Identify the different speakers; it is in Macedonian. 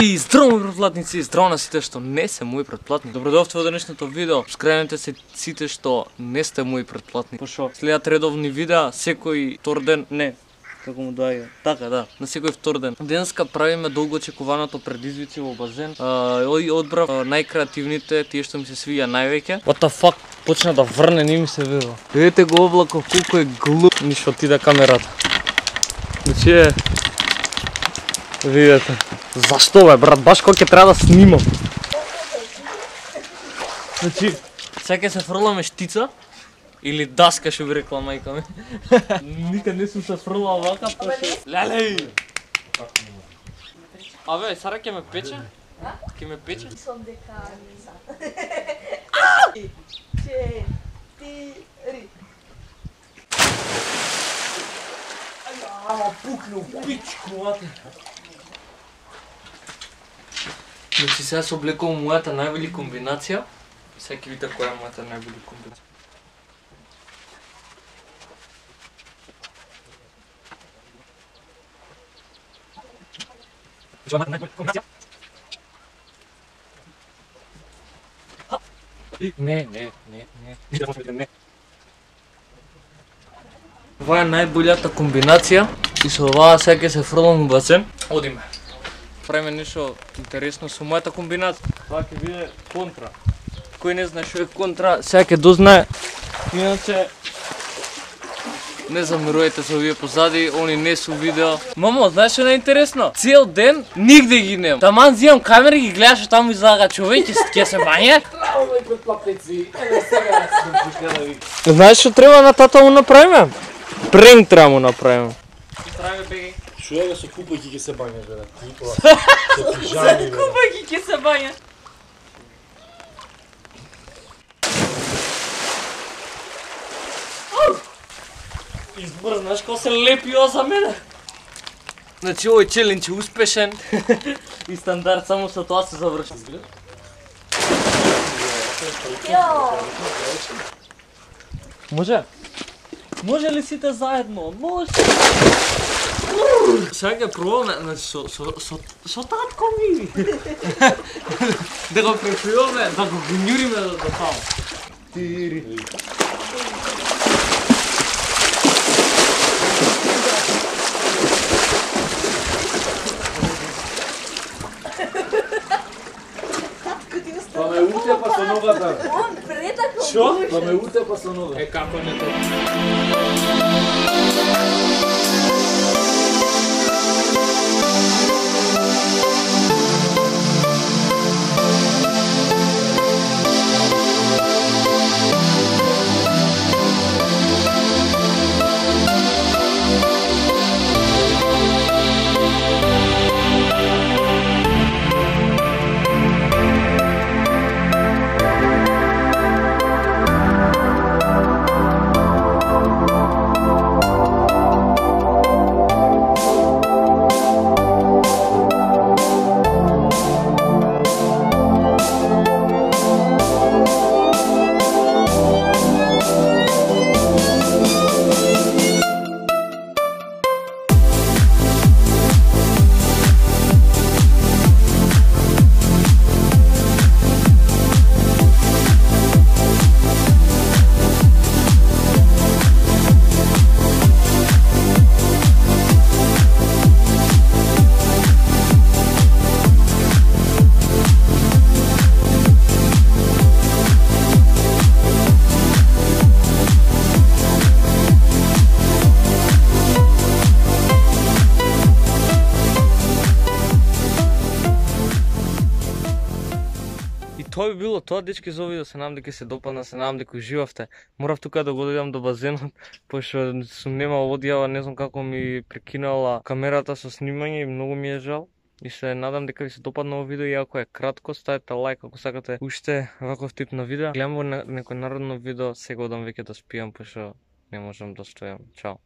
Speaker 1: И здраво мои претплатници, и здраво на сите што не се мои претплатници. Добродојавте во денешното видео. Скренете се сите што не сте мои претплатници. Пошо следат редовни видеа секој втор ден, не, како му доаѓа. Така, да, на секој втор ден. Денеска правиме долго очекуваното предизвици во базен. Одбрав најкреативните, тие што ми се свиѓа највеќе. What the fuck? Почна да врне, не ми се верува. Видете го облако, колку е глуп. Ништо отиде камерата. Значи видете. Зашто бе, брат, баш кога ќе треба да снимам. Значи, сега ќе се фрламе штица или даска, што би рекла мајка ми. Никад не сум се фрлал вака, леле! Абе, сара ќе ме пече? Ќе ме пече?
Speaker 2: Сом дека не. 4.
Speaker 1: Ама пукнал пичку, мате. Значи сега се облекувам мојата највели комбинација. Сега ќе видите која е мојата највели комбинација. Не. Ова е најбољата комбинација и со оваа сега ќе се фрлам во басен. Одиме. Правиме нешто интересно со мојата комбинација. Това ќе биде контра. Кој не знае што е контра, сега ќе дознае. Иначе не замирувајте се овие позади, они не су видео. Мамо, знаеш што е интересно? Цел ден нигде ги нема. Таман зимам камера и ги гледаш таму излага човек ќе се бање. Знаеш што треба на тата му направиме? Пренк треба му направиме. Правиме беги.
Speaker 3: Шо е со купајки ќе се бањаш, бе? Со пижами, бе.
Speaker 2: Купајки ќе се бања.
Speaker 1: Избор, знаеш како се лепи ова за мене? Значи овој челендж е успешен и стандард, само со тоа се заврши. Може? Може ли сите заедно? Може! Сега ќе пробаме, значи со татко ми. Да го префриваме, да го гњуриме до таму. Тири.
Speaker 3: Па ме утепа со ногата.
Speaker 2: Он предако.
Speaker 3: Шо? Па ме утепа со ногата.
Speaker 1: Е, како не тоа? Тоа би било тоа, дечки, за видео. Се надам дека се допадна, се надам дека уживавте. Морав тука да го дојдам до базенот, пошто сум немал одјава, не знам како ми прекинала камерата со снимање и многу ми е жал. И се надам дека ви се допадна овој видео, и ако е кратко, ставете лайк ако сакате уште ваков тип на видео. Гледам во некој народно видео, сега одам веќе да спијам, пошто не можам да стојам. Чао.